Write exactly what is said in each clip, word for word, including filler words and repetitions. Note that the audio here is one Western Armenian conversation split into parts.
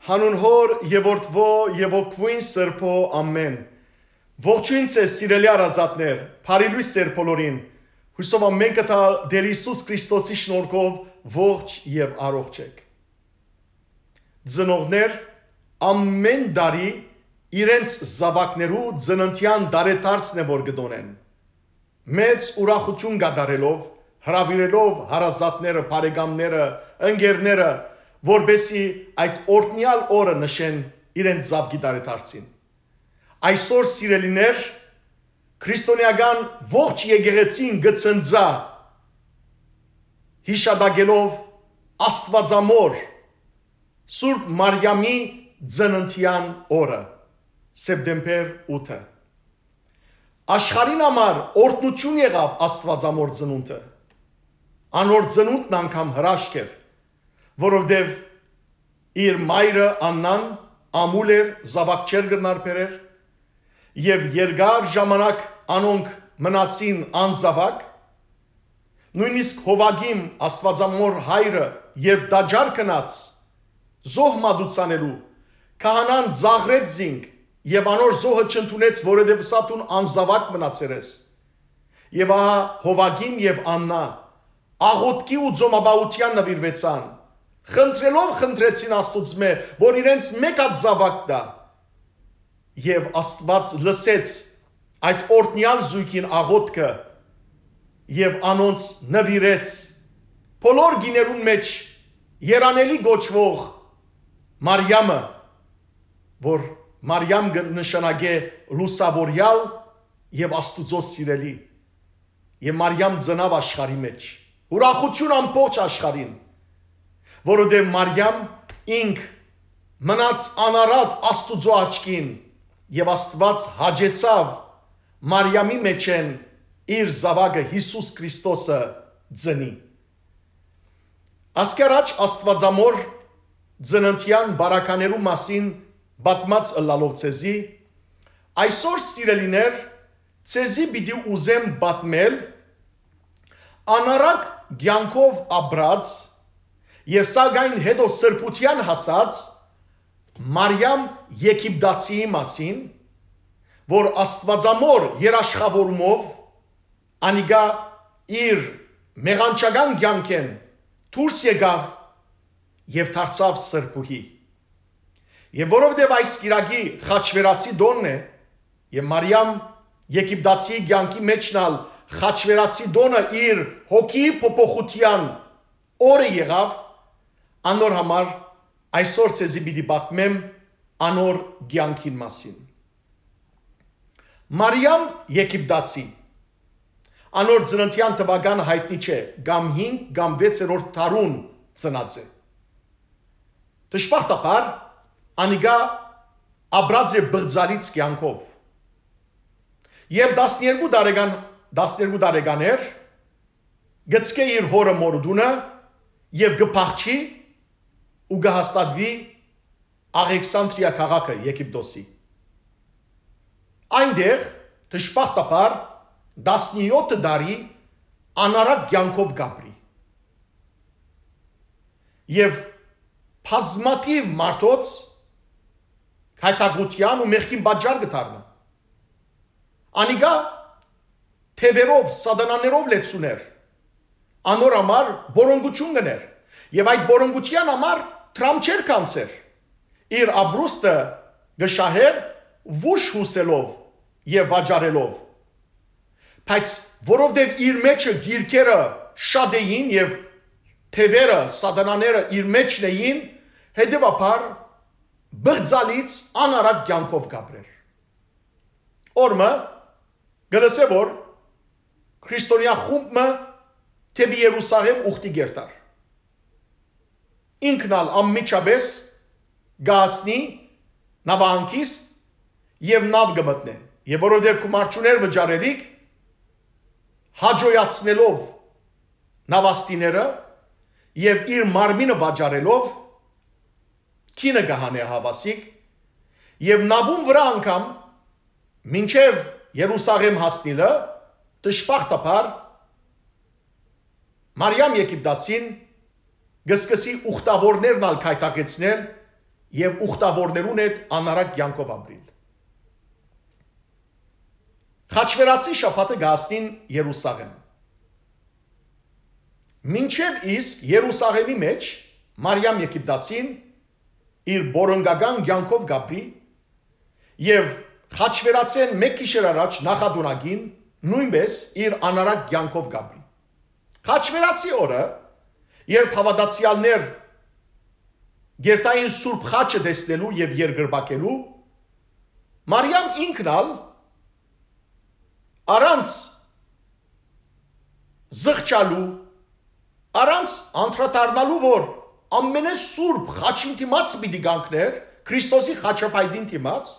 Հանուն Հօր եւ Որդւոյ եւ Հոգւոյն Սրբոյ, ամէն։ Ողջոյն ձեզ, սիրելի հարազատներ, բարի լոյս ձեր բոլորին։ Յուսով ամէն կտալ Տէր Յիսուս Քրիստոսի շնորհքով ողջ եւ առողջ եք։ Ծնողներ ամէն տարի իրենց զաւակներու ծննդեան տարեդարձն է որ կը տոնեն, մեծ ուրախութիւն կատարելով, հրաւիրելով հարազատները, բարեկամները, ընկերները, որպեսզի այդ օրհնեալ օրը նշեն իրենց զաւկի տարեդարձին։ Այսօր, սիրելիներ, քրիստոնեական ողջ եկեղեցին կը ցնծայ յիշատակելով Աստուածամոր Սուրբ Մարիամի ծննդեան օրը, սեպտեմբեր ութը։ Աշխարհին համար օրհնութիւն եղաւ Աստուածամոր ծնունդը։ Անոր ծնունդն անգամ հրաշք էր, որովհետեւ իր մայրը Աննան ամուլ էր, զաւակ չէր կրնար բերեր, եւ երկար ժամանակ անոնք մնացին անզաւակ, նոյնիսկ Յովակիմ Աստուածամոր հայրը, երբ տաճար գնաց զոհ մատուցանելու, քահանան ծաղրեց զինք եւ անոր զոհը չընդունեց, որովհետեւ ըսաւ դուն անզաւակ մնացեր ես։ Եւ ահա Յովակիմ եւ Աննա աղօթքի ու ծոմապահութեան նուիրուեցան, խնդրելով խնդրեցին Աստուծմէ, որ իրենց մէկ հատ զաւակ տայ։ Եւ Աստուած լսեց այդ օրհնեալ զոյգին աղօթքը եւ անոնց նուիրեց բոլոր գիներուն մէջ երանելի կոչուող Մարիամը, որ Մարիամ կը նշանակէ լուսաւորեալ եւ Աստուծոյ սիրելի։ Եւ Մարիամ ծնաւ աշխարհի մէջ։ Ուրախութիւն ամբողջ աշխարհին, որովհետեւ Մարիամ ինք մնաց անարատ Աստուծոյ աչքին, եւ Աստուած հաճեցաւ Մարիամի մէջէն իր զաւակը Յիսուս Քրիստոսը ծնի։ Ասկի առաջ Աստուածամոր ծննդեան բարականերու մասին պատմած ըլլալով ձեզի, այսօր, սիրելիներ, ձեզի պիտի ուզեմ պատմել անարակ կեանքով ապրած եւ սակայն հետո սրբութեան հասած Մարիամ Եգիպտացիի մասին, որ Աստուածամոր երաշխաւորումով անիկա իր մեղանչական կեանքէն դուրս եկաւ եւ դարձաւ սրբուհի։ Եւ որովհետեւ այս կիրակի խաչվերացի տօնն է, եւ Մարիամ Եգիպտացի կեանքի մէջն ալ խաչվերացի տօնը իր հոգիի փոփոխութեան օրը եղաւ, անոր համար այսօր ձեզի պիտի պատմեմ անոր կեանքին մասին։ Մարիամ Եգիպտացի։ Անոր ծննդեան թուական յայտնի չէ, կամ հինգ կամ վեցերորդ դարուն ծնած է։ Դժբախտաբար, անիկա ապրած է բղծալից կեանքով։ Երբ տասներկու տարեկան, տասներկու տարեկան էր, գցկէ իր հօրը մօրուտունը եւ կը փախչի ու կը հաստատուի Աղեքսանդրիա քաղաքը Եգիպտոսի։ Այնտեղ, դժբախտաբար, տասնեօթ տարի անարակ կեանքով կապրի։ Եւ բազմաթիւ մարդոց գայթակղութեան ու մեղքին պատճառ կը դառնայ։ Անիկա թեւերով, սատանաներով լեցուն էր, անոր համար պորոնկութիւն կ'ընէր եւ այդ պորոնկութեան համար դրամ չէր գանձեր։ Իր ապրուստը կը շահէր վուշ յուսելով եւ վաճառելով։ Բայց որովհետեւ իր մէջը գիրքերը շատ էին եւ թեւերը, սատանաները իր մէջն էին, հետեւաբար բղծալից անարակ կեանքով կապրեր։ Օրը մը կը լսէ, որ քրիստոնեայ խումբ մը դէպի Երուսաղէմ ուխտի կ'երթար։ Ինքն ալ անմիջապէս կը հասնի նաւահանգիստ եւ նաւ կը մտնէ, եւ որովհետեւ գումար չունէր վճարելիք, հաճոյացնելով նաւաստիները եւ իր մարմինը վաճառելով, գինը կը հանէ հաւասիկ, եւ նաւուն վրայ անգամ մինչեւ Երուսաղէմ հասնիլը, դժբախտաբար, Մարիամ Եգիպտացին կը սկսի ուխտաւորներն ալ գայթակղեցնել եւ ուխտաւորներուն հետ անառակ կեանքով ապրիլ։ Խաչվերացի շաբաթը կը հասնին Երուսաղէմ։ Մինչեւ իսկ Երուսաղէմի մէջ Մարիամ Եգիպտացին իր բորոնկական կեանքով կ'ապրի եւ խաչվերացէն մէկ գիշեր առաջ նախատունակին նոյնպէս իր անառակ կեանքով կ'ապրի։ Խաչվերացի օրը, երբ հաւատացեալներ գերտային Սուրբ Խաչը տեսնելու եւ երկրպագելու, Մարիամ ինքն ալ առանց զղջալու, առանց անդրադառնալու, որ ամենեսուրբ խաչին դիմաց պիտի կանգներ, Քրիստոսի խաչապայտին դիմաց,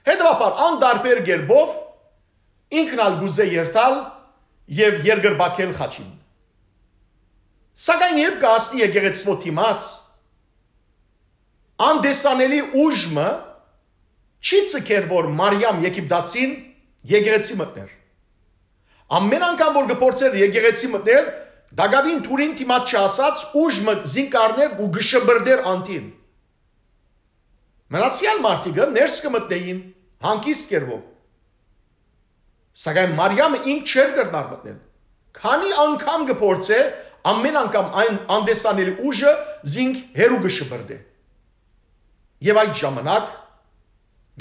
հետեւաբար անտարբեր կերպով ինքն ալ կ'ուզէ երթալ եւ երկրպագել խաչին։ Սակայն երբ կը հասնի եկեղեցւոյ դիմաց, անտեսանելի ուժ մը չի ձգեր, որ Մարիամ Եգիպտացին եկեղեցի մտներ։ Ամեն անգամ որ կը փորձեր եկեղեցի մտնել, տակաւին դուռին դիմաց չհասած ուժ մը զինք առներ ու կը շպրտէր անդին։ Մնացեալ մարդիկը ներս կը մտնէին հանգիստ կերպով։ Սակայն Մարիամը ինք չէր կրնար մտնել։ Քանի՞ անգամ կը փորձէ, ամեն անգամ այն անտեսանելի ուժը զինք հեռու կը շպրտէ։ Եւ այդ ժամանակ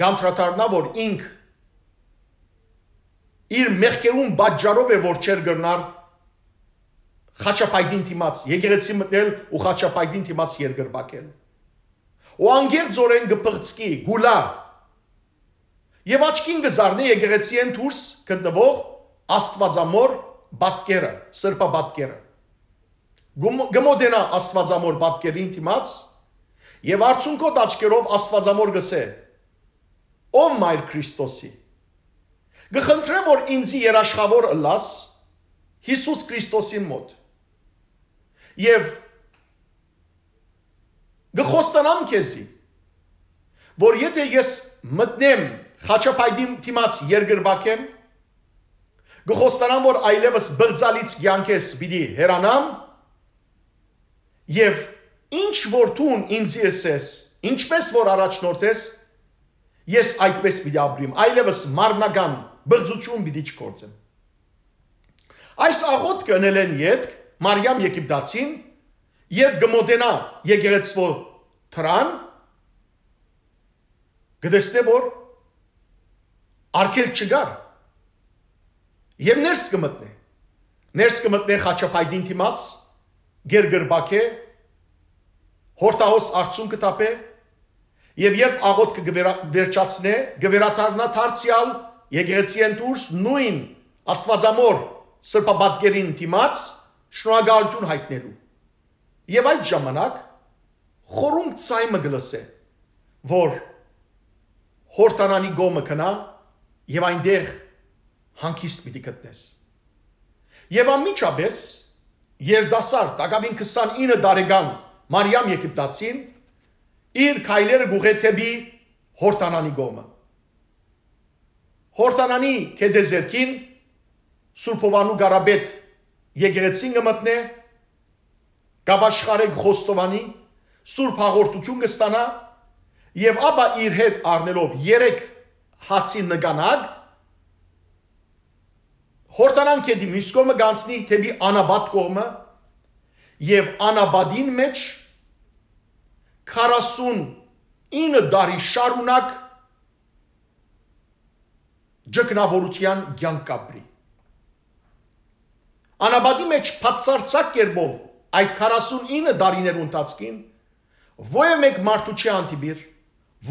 կ'անդրադառնայ, որ ինք իր մեղքերուն պատճառով է, որ չէր կրնար խաչապայտին դիմաց եկեղեցի մտնել ու խաչապայտին դիմաց երկրպագել։ Ու անկեղծօրէն կը պղծկի, կ'ուլայ։ Եւ աչքին կը զարնէ եկեղեցիէն դուրս գտնուող Աստուածամոր պատկերը, սրբապատկերը։ Կը մո-, կը մոտենայ Աստուածամոր պատկերին դիմաց եւ արցունքոտ աչքերով Աստուածամոր կ'ըսէ. «Ով Մայր Քրիստոսի, կը խնդրեմ, որ ինծի երաշխաւոր ըլլաս Յիսուս Քրիստոսին մօտ։ Եւ կը խոստանամ քեզի, որ եթէ ես մտնեմ խաչապայտին դիմաց երկրպագեմ, կը խոստանամ, որ այլեւս բղծալից կեանքէս պիտի հեռանամ, եւ ինչ որ դուն ինծի ըսես, ինչպէս որ առաջնորդես, ես այդպէս պիտի ապրիմ, այլեւս մարմնական բղծութիւն պիտի չգործեմ»։ Այս աղօթքը ընելէն ետք Մարիամ Եգիպտացին, երբ կը մոտենայ եկեղեցւոյ դռան, կը տեսնէ, որ արգելք չկար եւ ներս կը մտնէ։ Ներս կը մտնէ խաչապայտին դիմաց, գերգրբակէ, հորտահոս արցունքը թափէ եւ երբ աղօթքը կը վերա-, վերջացնէ, կը վերադառնայ դարձեալ եկեղեցիէն դուրս նոյն Աստուածամոր սրբապատկերին դիմաց, շնորհակալութիւն յայտնելու։ Եւ այդ ժամանակ խորունկ ծայ մը կը լսէ, որ Յորդանանի կողմը գնայ եւ այնտեղ հանգիստ պիտի գտնես։ Եւ անմիջապէս երիտասարդ, տակաւին քսանինը տարեկան Մարիամ Եգիպտացին իր քայլերը կ'ուղղէ դէպի Յորդանանի կողմը։ Յորդանանի գետեզերքին Սուրբ Յովհաննու Կարապետ եկեղեցին կը մտնէ, կ'ապաշխարէ, կը խոստովանի, սուրբ հաղորդութիւն կը ստանայ եւ ապա իր հետ առնելով երեք հացի նկանակ, Յորդանան գետի մյուս կողմը կ'անցնի դէպի անապատ կողմը եւ անապատին մէջ քառասունինը տարի շարունակ ճգնաւորութեան կեանք կ'ապրի։ Անապատի մէջ բացարձակ կերպով այդ քառասունինը տարիներու ընթացքին ովեւ մէկ մարդու չի հանդիպիր,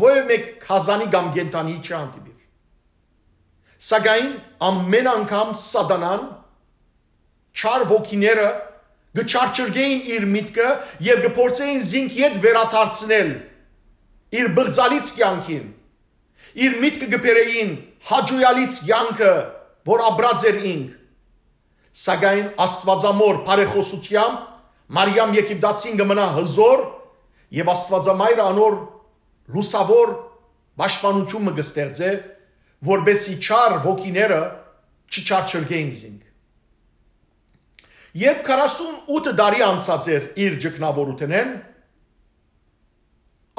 ովեւ մէկ գազանի կամ կենդանի չի հանդիպիր։ Սակայն ամեն անգամ Սատանան, չար ոգիները կը չարչրկէին իր միտքը եւ կը փորձէին զինք ետ վերադարձնել իր բղծալից կեանքին, իր միտքը կը բերէին հաճոյալից կեանքը, որ ապրած էր ինք։ Սակայն Աստուածամոր բարեխօսութեամբ Մարիամ Եգիպտացին կը մնայ հզոր եւ Աստուածամայրը անոր լուսաւոր պաշտպանութիւն մը կը ստեղծէ, որպէսզի չար ոգիները չչարչրկէին զինք։ Երբ քառասունութ տարի անցած էր իր ճգնաւորութենէն,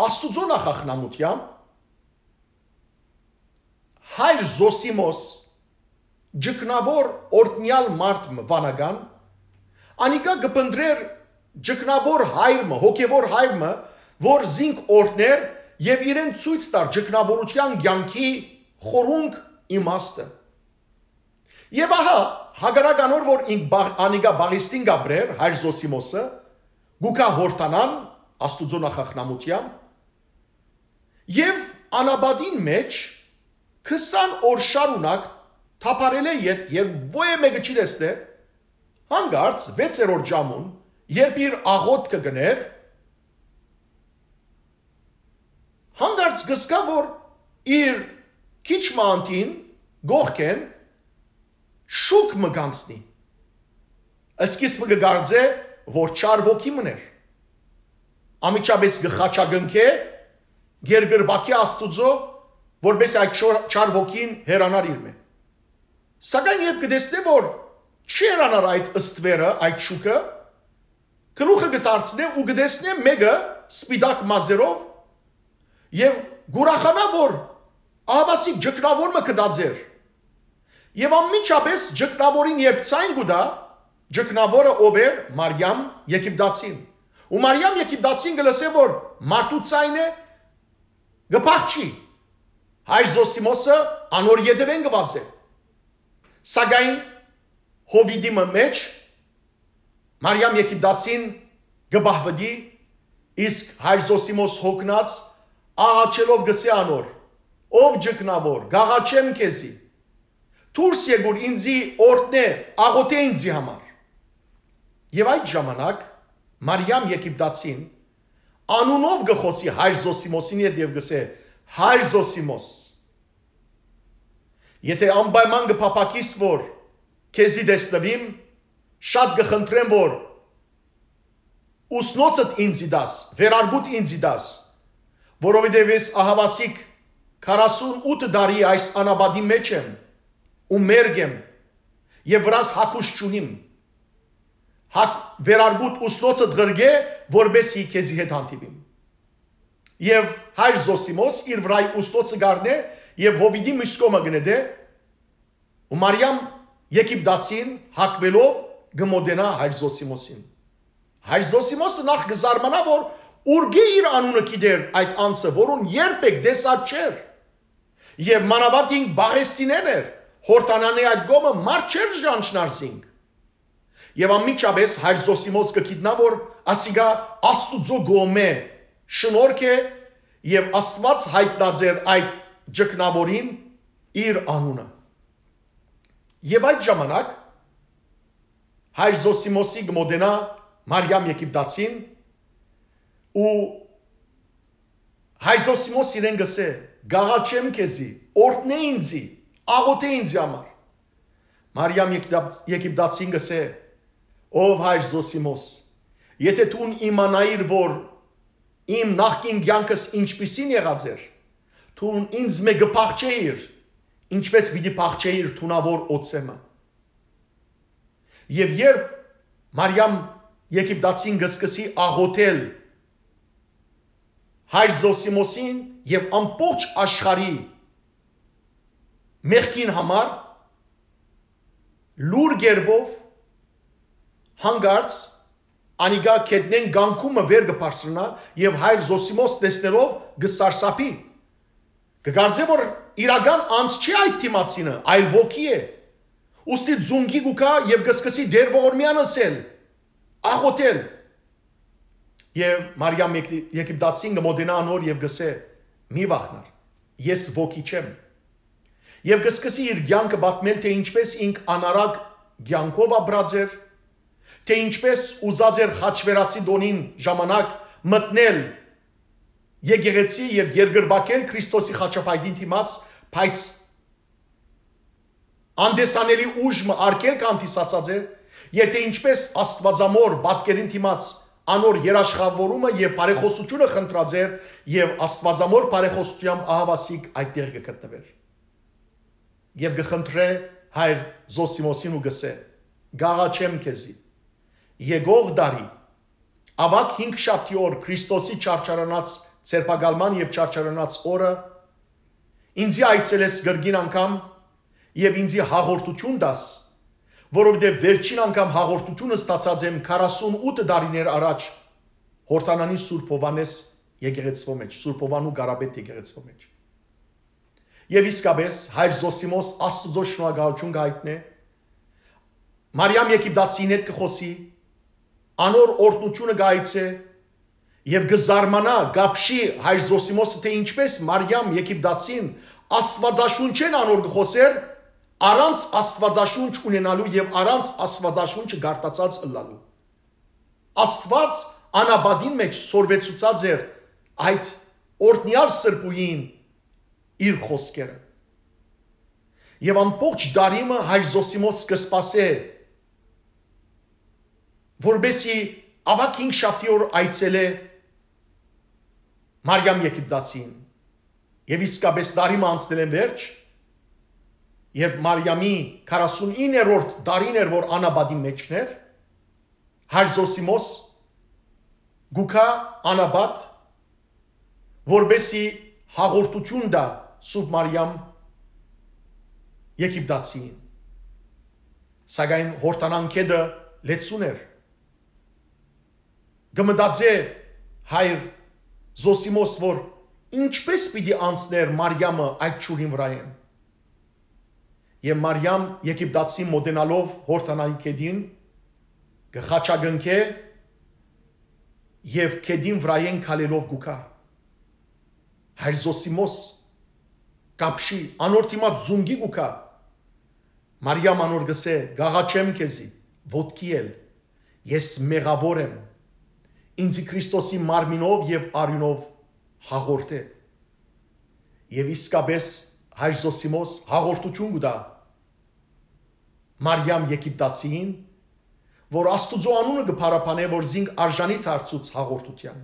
Աստուծոյ նախախնամութեամբ հայր Զոսիմոս, ճգնաւոր օրհնեալ մարդ մը վանական, անիկա կը փնտռէր ճգնաւոր հայր մը, հոգեւոր հայր մը, որ զինք օրհներ եւ իրեն ցոյց տար ճգնաւորութեան կեանքի խորունկ իմաստը։ Եւ ահա, հակառակ անոր, որ ինք բաղ-, անիկա Պաղեստին կ'ապրէր, հայր Զոսիմոսը, գուկա Յորդանան, Աստուծոյ նախախնամութեամբ, եւ անապատին մէջ քսան օր շարունակ թափառելէ յետ, երբ ոյ մէկը չի տեսնէ, հանկարծ վեցերորդ ժամուն, երբ իր աղոթքը կ'ընէր, հանկարծ կ'զգայ, որ իր քիչ մը անդին կողքէն շուք մը կ'անցնի։ Սկիզբը կը կարծէ, որ չար ոգի մըն էր։ Անմիջապէս կը խաչակնքէ, կ'երկրպագէ Աստուծոյ, որպէս այդ չոր-, չար ոգին հեռանար իրմէ։ Սակայն երբ կը տեսնէ, որ չի հեռանար այդ ստուերը, այդ շուքը, գլուխը կը դարձնէ ու կը տեսնէ մէկը սպիտակ մազերով եւ կ'ուրախանայ, որ ահաւասիկ ճգնաւոր մը գտած էր։ Եւ անմիջապէս ճգնաւորին երբ ձայն կու տայ, ճգնաւորը ով էր, Մարիամ Եգիպտացին։ Ու Մարիամ Եգիպտացին կը լսէ, որ մարդու ձայնը կը փախչի։ Հայր Զոսիմոսը անոր ետեւէն կը վազէ։ Սակայն Յովիդի մը մէջ Մարիամ Եգիպտացին կը պահուտի, իսկ հայր Զոսիմոս հոգնած աղաչելով կ'ըսէ անոր. «Ով ճգնաւոր, կ'աղաչեմ քեզի։ Դուրս եկուր ինձի օրհնէ, աղօթէ ինձի համար»։ Եւ այդ ժամանակ Մարիամ Եգիպտացին անունով կը խօսի հայր Զոսիմոսին հետ եւ կ'ըսէ. «Հայր Զոսիմոս, եթէ անպայման կը փափաքիս որ քեզի տեսնուիմ, շատ կը խնդրեմ որ ուսնոցդ ինձի տաս, վերարկուդ ինձի տաս, որովհետեւ ես ահաւասիկ քառասուն ութ տարի այս անապատի մէջ եմ ու մերկ եմ եւ վրաս հագուստ չունիմ։ Հակ վերարկուդ ուսնոցդ ղրկէ, որպեսզի քեզի հետ հանդիպիմ»։ Եւ հայր Զոսիմոս իր վրայ ուսնոցը կ'առնէ եւ Յովիդի մյուս կողմը կը նետէ, ու Մարիամ Եգիպտացին հակուելով կը մոտենայ հայր Զոսիմոսին։ Հայր Զոսիմոսը նախ կը զարմանայ, որ ուրկէ իր անունը գիտեր այդ անձը, որուն երբեք տեսած չէր։ Եւ մանաւանդ ինք Պաղեստինէն էր, Յորդանանի այդ կողմը մարդ չէր ճանչնար զինք։ Եւ անմիջապէս հայր Զոսիմոս կը գիտնայ, որ ասիկա Աստուծոյ կողմէ շնորհք է եւ Աստուած յայտնած էր այդ ճգնաւորին իր անունը։ Եւ այդ ժամանակ հայր Զոսիմոսի կը մոտենայ Մարիամ Եգիպտացին ու հայր Զոսիմոս իրեն կ'ըսէ. «Կ'աղաչեմ քեզի, օրհնէ ինձի, աղօթէ ինձի համար»։ Մարիամ Եգիպտա-, Եգիպտացին կ'ըսէ. «Ով հայր Զոսիմոս, եթէ դուն իմանայիր որ իմ նախկին կեանքս ինչպիսին եղած էր, դուն ինձմէ կը փախչէիր, ինչպէս պիտի փախչէիր թունաւոր օծեմը»։ Եւ երբ Մարիամ Եգիպտացին կը սկսի աղօթել հայր Զոսիմոսին եւ ամբողջ աշխարհի մեղքին համար, լուր կերպով, հանկարծ անիկա գետնէն կանգումը վեր կը բարձրանայ եւ հայր Զոսիմոս տեսնելով կը սարսափի։ Կը կարծէ որ իրական անձ չի այդ դիմացինը, այլ ոգի է։ Ուստի ձունկի կու գայ եւ կը սկսի Տեր Ողորմեան ըսել, աղօթել։ Եւ Մարիամ Եգ-, Եգիպտացին կը մոտենայ անոր եւ կ'ըսէ. «Մի վախնար, ես ոգի չեմ»։ Եւ կը սկսի իր կեանքը պատմել, թէ ինչպէս ինք անառակ կեանքով ապրած էր, թէ ինչպէս ուզած էր խաչվերացի տօնին ժամանակ մտնել եկեղեցի եւ երկրպագել Քրիստոսի խաչապայտին դիմաց, բայց անտեսանելի ուժ մը արգելք հանդիսացած էր, եթէ ինչպէս Աստուածամոր պատկերին դիմաց անոր երաշխավորումը եւ բարեխօսությունը խնդրած էր, եւ Աստուածամոր բարեխօսությամբ ահաւասիկ այդտեղ կը գտնուէր։ Եւ կը խնդրէ հայր Զոսիմոսին ու կ'ըսէ. «Կ'աղաչեմ քեզի, եկող տարի, աւագ հինգշաբթի օր Քրիստոսի չարչարանաց Սերբակալման եւ չարչարանաց օրը ինձի այցելես կրկին անգամ եւ ինձի հաղորդութիւն տաս, որովհետեւ վերջին անգամ հաղորդութիւնը ստացած եմ քառասունութ տարիներ առաջ Յորդանանի Սուրբ Յովհաննէս եկեղեցւոյ մէջ, Սուրբ Յովհաննու Կարապետ եկեղեցւոյ մէջ։ Եւ իսկապէս, հայր Զոսիմոս Աստուծոյ շնորհակալութիւն կը յայտնէ, Մարիամ Եգիպտացին հետ կը խօսի, անոր օրհնութիւնը կը այցէ եւ կը զարմանայ, կապշի հայր Զոսիմոսը, թէ ինչպէս Մարիամ Եգիպտացին Աստուածաշունչէն անոր կը խօսէր, առանց Աստուածաշունչ ունենալու եւ առանց Աստուածաշունչը կարդացած ըլլալու։ Աստուած անապատին մէջ սորվեցուցած էր այդ օրհնեալ սրբուհին իր խօսքերը։ Եւ ամբողջ տարի մը հայր Զոսիմոս կը սպասէ, որպեսզի աւագ հինգշաբթի օր այցելէ Մարիամ Եգիպտացին։ Եւ իսկապէս տարի մը անցնելէն վերջ, երբ Մարիամի քառասունիններորդ տարին էր, որ անապատին մէջն էր, հայր Զոսիմոս գուքա անապատ, որպեսզի հաղորդութիւն տայ Սուրբ Մարիամ Եգիպտացին։ Սակայն Յորդանան գետը լեցուն էր։ Կը մտածէ հայր Զոսիմոս, որ ինչպէս պիտի անցնէր Մարիամը այդ ջուրին վրայէն։ Եւ Մարիամ Եգիպտացին մօտենալով Յորդանանի գետին, կը խաչակնքէ եւ գետին վրայէն քալելով գուքա։ Հայր Զոսիմոս կապշի, անոր դիմաց զունգի գուքա։ Մարիամ անոր կ'ըսէ. «Կ'աղաչեմ քեզի, ոտքի ել, ես մեղաւոր եմ, ինձի Քրիստոսի մարմինով եւ արիւնով հաղորդէ»։ Եւ իսկապէս հայր Զոսիմոս հաղորդութիւն կու տայ Մարիամ Եգիպտացիին, որ Աստուծոյ անունը կը փառաբանէ, որ զինք արժանի դարձուց հաղորդութեան։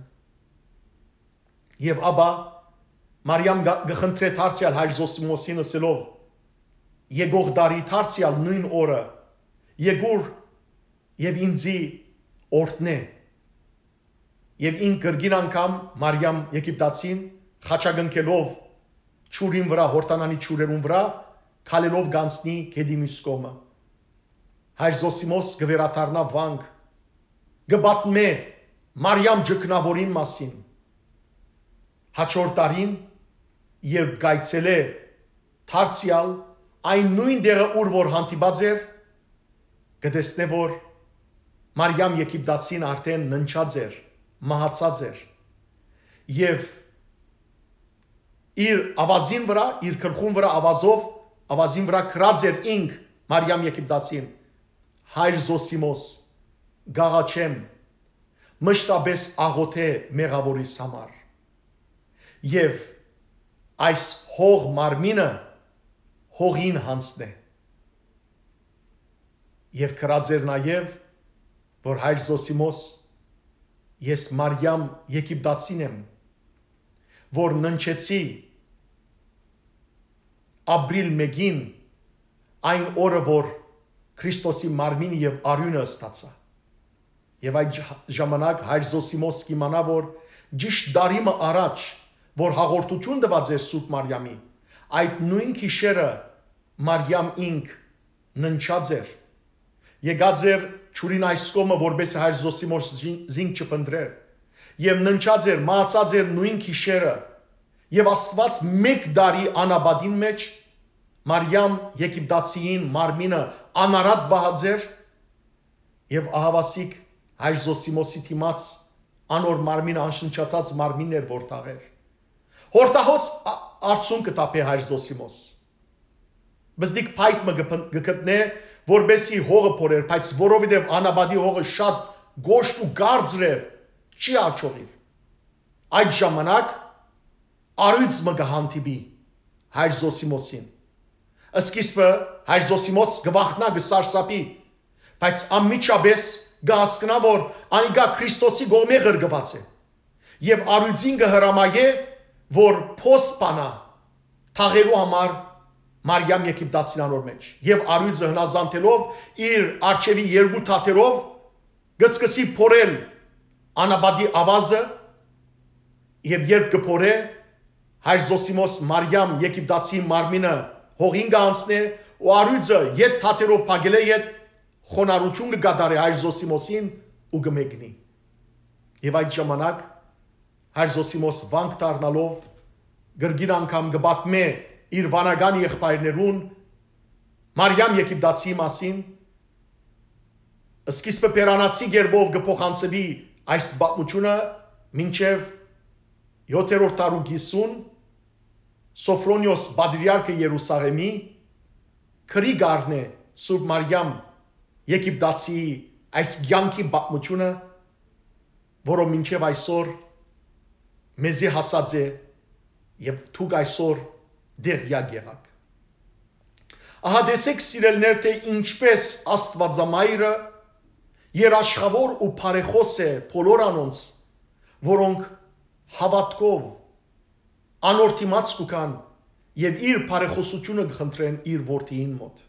Եւ ապա Մարիամ գ-, կը խնդրէ դարձեալ հայր Զոսիմոսին, ըսելով. «Եկող տարի դարձեալ նոյն օրը եկուր եւ ինձի օրհնէ»։ Եւ ինք կրկին անգամ Մարիամ Եգիպտացին խաչակնքելով ջուրին վրայ, Յորդանանի ջուրերուն վրայ, քալելով կ'անցնի գետի միւս կողմը։ Հայր Զոսիմոս կը վերադառնայ վանք, կը պատմէ Մարիամ Ճգնաւորին մասին։ Հաջորդ տարին, երբ կ'այցելէ դարձեալ այն նոյն տեղը, ուր որ հանդիպած էր, կը տեսնէ, որ Մարիամ Եգիպտացին արդէն ննջած էր, մահացած էր։ Եւ իր աւազին վրայ, իր գլխուն վրայ աւազով, աւազին վրայ գրած էր ինք, Մարիամ Եգիպտացին. «Հայր Զոսիմոս, կ'աղաչեմ, մշտապէս աղոթէ մեղաւորիս համար»։ Եւ այս հող մարմինը հողին յանձնէ։ Եւ գրած էր նաեւ, որ հայր Զոսիմոս, ես Մարիամ Եգիպտացին եմ, որ ննջեցի ապրիլ մէկին, այն օրը, որ Քրիստոսի մարմին եւ արիւնը ստացայ։ Եւ այդ ժ-, ժամանակ հայր Զոսիմոս կ'իմանայ, որ ճիշդ տարի մը առաջ, որ հաղորդութիւն տուած էր Սուրբ Մարիամի, այդ նոյն գիշերը Մարիամ ինք ննջած էր։ Եկած էր ջուրին այս կողմը, որպեսզի հայր Զոսիմոս զին-, զինք չփնտռէր։ Եւ ննջած էր, մահացած էր նոյն գիշերը։ Եւ Աստուած մէկ տարի անապատին մէջ Մարիամ Եգիպտացիին մարմինը անարատ պահած էր, եւ ահաւասիկ հայր Զոսիմոսի դիմաց անոր մարմինը անշնչացած մարմինն էր, որ թաղեր։ Յորդահոս ա-, արցունքը թափէ հայր Զոսիմոս։ Բզդիկ փայտ մը կը փն-, կը գտնէ, որպեսզի հողը փորեր, բայց որովհետեւ անապատի հողը շատ կոշտ ու կարծր էր, չի աջողիր։ Այդ ժամանակ առիւծ մը կը հանդիպի հայր Զոսիմոսին։ Սկիզբը հայր Զոսիմոս կը վախնայ, կը սարսափի, բայց անմիջապէս կը հասկնայ, որ անիկա Քրիստոսի կողմէ ղրկուած է։ Եւ առիւծին կը հրամայէ, որ փոս բանայ թաղելու համար Մարիամ Եգիպտացին անոր մէջ։ Եւ առիւծը հնազանդելով իր արջեւի երկու թաթերով կը սկսի փորել անապատի աւազը, Եւ երբ կը փորէ, հայր Զոսիմոս Մարիամ Եգիպտացի մարմինը հողին կը անցնէ ու առիւծը ետ թաթերով փակելէ յետ խոնարհութիւն կը կատարէ հայր Զոսիմոսին ու կը մեկնի։ Եւ այդ ժամանակ հայր Զոսիմոս վանք դառնալով կրկին անգամ կը պատմէ իր վանական եղբայրներուն Մարիամ Եգիպտացիի մասին։ Սկիզբը բերանացի կերպով կը փոխանցուի այս պատմութիւնը մինչեւ յոթերորդ դարու կիսուն Սոֆրոնիոս պատրիարքը Երուսաղէմի քրի կ'առնէ Սուրբ Մարիամ Եգիպտացիի այս կեանքի պատմութիւնը, որով մինչեւ այսօր մեզի հասած է եւ դուք այսօր դեղյակ եղաք։ Ահա տեսեք, սիրելիներ, թէ ինչպէս Աստուածամայրը երաշխաւոր ու բարեխօս է բոլոր անոնց, որոնք հաւատքով անոր դիմաց կու գան եւ իր բարեխօսութիւնը կը խնդրեն իր որդիին մօտ։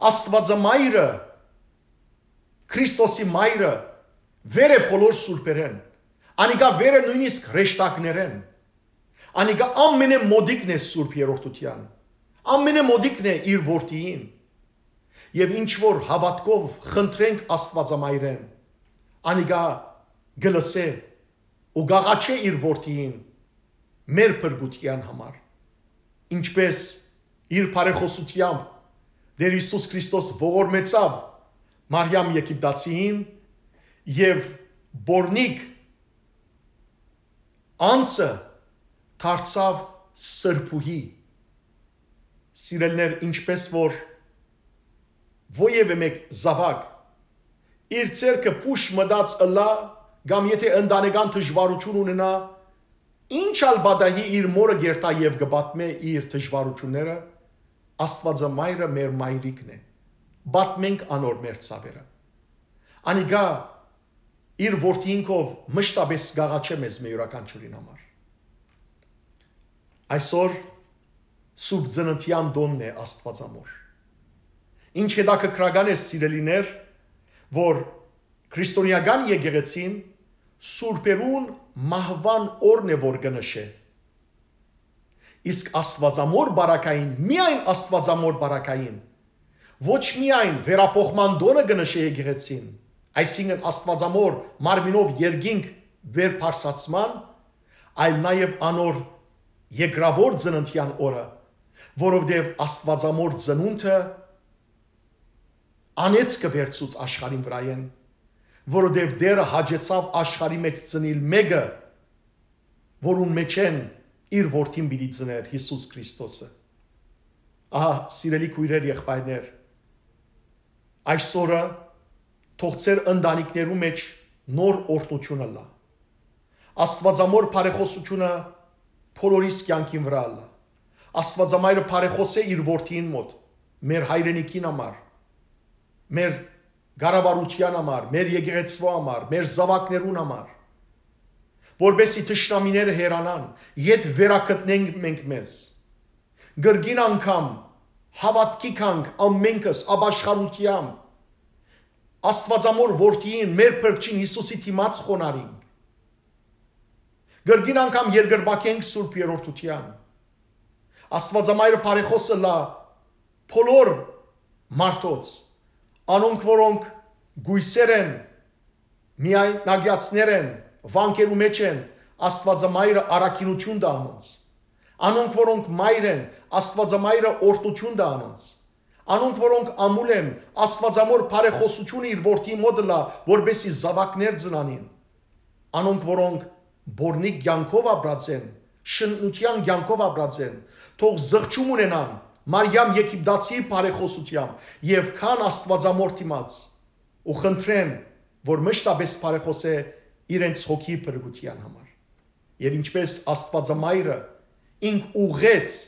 Աստուածամայրը, Քրիստոսի մայրը, վեր է բոլոր սուրբերէն, անիկա վեր է նոյնիսկ հրեշտակներէն, անիկա ամենէ մօտիկն է Սուրբ Երրորդութեան, ամենէ մօտիկն է իր որդիին։ Եւ ինչ որ հաւատքով խնդրենք Աստուածամայրէն, անիկա կը լսէ ու կ'աղաչէ իր որդիին մեր փրկութեան համար, ինչպէս իր բարեխօսութեամբ Տէր Յիսուս Քրիստոս ողորմեցաւ Մարիամ Եգիպտացիին եւ պոռնիկ անձը դարձաւ սրբուհի։ Սիրելիներ, ինչպէս որ որեւէ մէկ զաւակ իր ձեռքը պուշ մտած ըլլայ կամ եթէ ընտանեկան դժուարութիւն ունենայ, ինչ ալ պատահի, իր մօրը կ'երթայ եւ կը պատմէ իր դժուարութիւնները, Աստուածամայրը մեր մայրիկն է, պատմենք անոր մեր ցաւերը։ Անիկա իր որդիին քով մշտապէս կ'աղաչէ մեզմէ յուրաքանչիւրին համար։ Այսօր Սուրբ Ծննդեան տօնն է Աստուածամոր։ Ինչ հետաքրքրական է, սիրելիներ, որ քրիստոնեական եկեղեցին սուրբերուն մահուան օրն է որ կը նշէ։ Իսկ Աստուածամոր պարագային, միայն Աստուածամոր պարագային, ոչ միայն վերափոխման տօնը կը նշէ եկեղեցին, այսինքն Աստուածամոր մարմինով երկինք վերբարձացման, այլ նաեւ անոր երկրաւոր ծննդեան օրը, որովհետեւ Աստուածամոր ծնունդը անեծքը վերցուց աշխարհին վրայէն, որովհետեւ Տէրը հաճեցաւ աշխարհի մէջ ծնիլ մէկը, որուն մէջէն իր որդին պիտի ծներ Յիսուս Քրիստոսը։ Ահա, սիրելի քոյրեր, եղբայրներ, այսօրը թող ձեր ընտանիքներու մէջ նոր օրհնութիւն ըլլայ։ Աստուածամոր բարեխօսութիւնը բոլորիս կեանքին վրայ ըլլայ։ Աստուածամայրը բարեխօս է իր որդիին մօտ, մեր հայրենիքին համար, մեր կառավարութեան համար, մեր եկեղեցւոյ համար, մեր զաւակներուն համար, որպէս զի թշնամիները հեռանան, ետ վերագտնենք մենք մեզ։ Կրկին անգամ հաւատքի գանք ամենքս ապաշխարութեամբ, Աստուածամոր որդիին, մեր փրկչին Յիսուսի դիմաց խոնարհինք։ Կրկին անգամ երկրպագենք Սուրբ Երրորդութեան։ Աստուածամայրը բարեխօս ըլլայ բոլոր մարդոց, անոնք, որոնք կոյսեր են, միայնակեացներ են, վանքերու մէջ են, Աստուածամայրը առաքինութիւն տայ անոնց։ Անոնք, որոնք մայր են, Աստուածամայրը օրհնութիւն տայ անոնց։ Անոնք, որոնք ամուլ են, Աստուածամոր բարեխօսութիւնը իր որդիի մօտ ըլլայ, որպէս զի զաւակներ ծնանին։ Անոնք, որոնք բոռնիկ կեանքով ապրած են, շնութեան կեանքով ապրած են, թող զղջում ունենան Մարիամ Եգիպտացիի բարեխօսութեամբ եւ գան Աստուածամոր դիմաց ու խնդրեն, որ մշտապէս բարեխօսէ իրենց հոգիի փրկութեան համար։ Եւ ինչպէս Աստուածամայրը ինք ուղղեց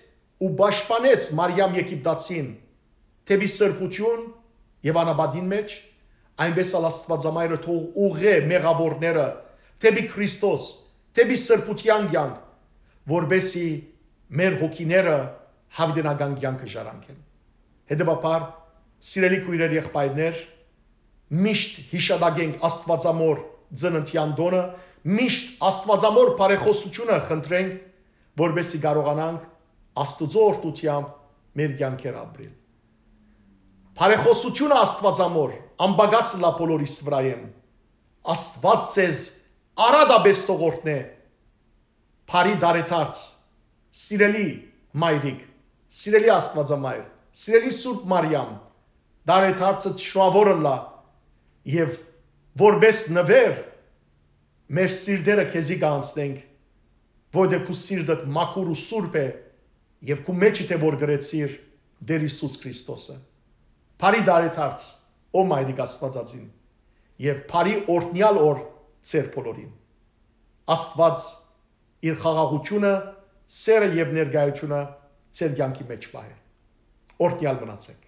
ու պաշտպանեց Մարիամ Եգիպտացին դէպի սրբութիւն եւ անապատին մէջ, այնպէս ալ Աստուածամայրը թող ուղղէ մեղաւորները դէպի Քրիստոս, դէպի սրբութեան կեանք, որպէս զի մեր հոգիները յաւիտենական կեանքը ժառանգեն։ Հետեւաբար, սիրելի քոյրեր, եղբայրներ, միշտ յիշատակենք Աստուածամոր ծննդեան տօնը միշտ Աստուածամոր բարեխօսութիւնը խնդրենք, որպեսզի կարողանանք Աստուծոյ օրհնութեամբ մեր կեանքեր ապրիլ։ Բարեխօսութիւնը Աստուածամոր անպակաս ըլլայ բոլորիս վրայէն։ Աստուած ձեզ արատապէս թող օրհնէ։ Բարի տարեդարձ, սիրելի մայրիկ, սիրելի Աստուածամայր, սիրելի Սուրբ Մարիամ, տարեդարձը շնորհաւոր ըլլայ եւ որպէս նուէր մեր սիրտերը քեզի կանցնենք, որտեղ քու սիրտդ մաքուր ու սուրբ է եւ քու մեջդ է որ գրեցիր Տեր Յիսուս Քրիստոսը։ Բարի տարեդարձ, ո մայրիկ Աստվածածին, եւ բարի օրհնեալ օր ձեր բոլորին։ Աստված իր խաղաղութիւնը, սերը եւ ներկայութիւնը ձեր կեանքի մէջ պահէ։ Օրհնեալ մնացեք։